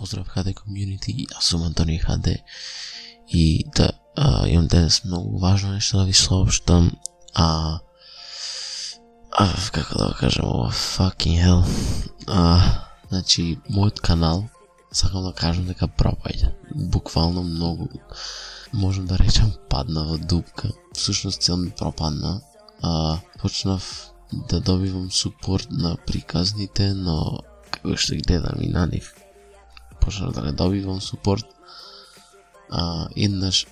Поздрав ХД комјунити, јас сум Антони ХД и да имам денес многу важно нешто да ви соопштам, како да го кажам, fucking hell. Значи, мојот канал, сакам да кажам дека пропаѓа. Буквално многу, можам да речам, падна во дупка. Всушност цел ми пропадна. Почнав да добивам супорт на приказните, но како што гледам и на нив, почнав да не добивам супорт. Еднаш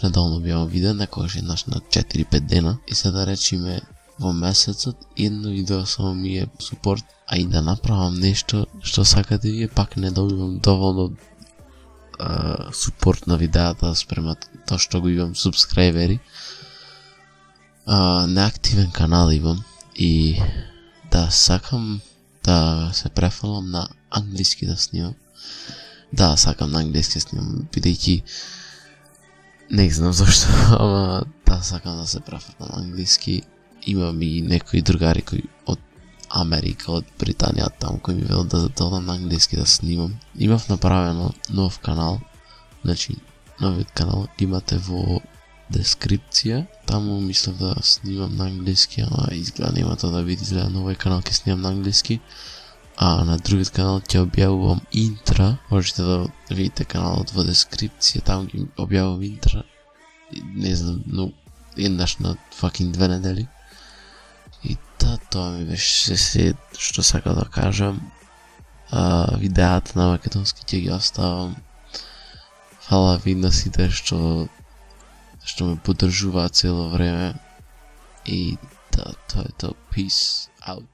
недално објавам видео, некогаш еднаш на 4-5 дена, и се да речиме во месецот едно видео само ми е супорт, а и да направам нешто што сакате вие, пак не добивам доволно супорт на видеата спрема тоа што го имам субскрайбери. Неактивен канал имам и да сакам да се префалам на англиски да снимам. Да, сакам на англиски снимам, бидејќи не знам зашто, ама да, сакам да се префалам на англиски. Имам и некои другари кои од Америка, од Британија, таму кои ми велат да додам на англиски да снимам. Имав направено нов канал, значи новиот канал имате во дескрипција, таму мислев да снимам на англиски, ама изгледа нема тоа да види, изгледа на овој канал ќе снимам на англиски, а на другиот канал ќе објавувам интра, можете да видите каналот во дескрипција, таму ќе објавувам интра, не знам, но еднаш на fucking 2 недели. И тоа ми беше се што сакам да кажам. Видеата на македонски ќе ги оставам. Фала ви на сите што ме поддржуваат цело време. И тоа е тоа. Peace out.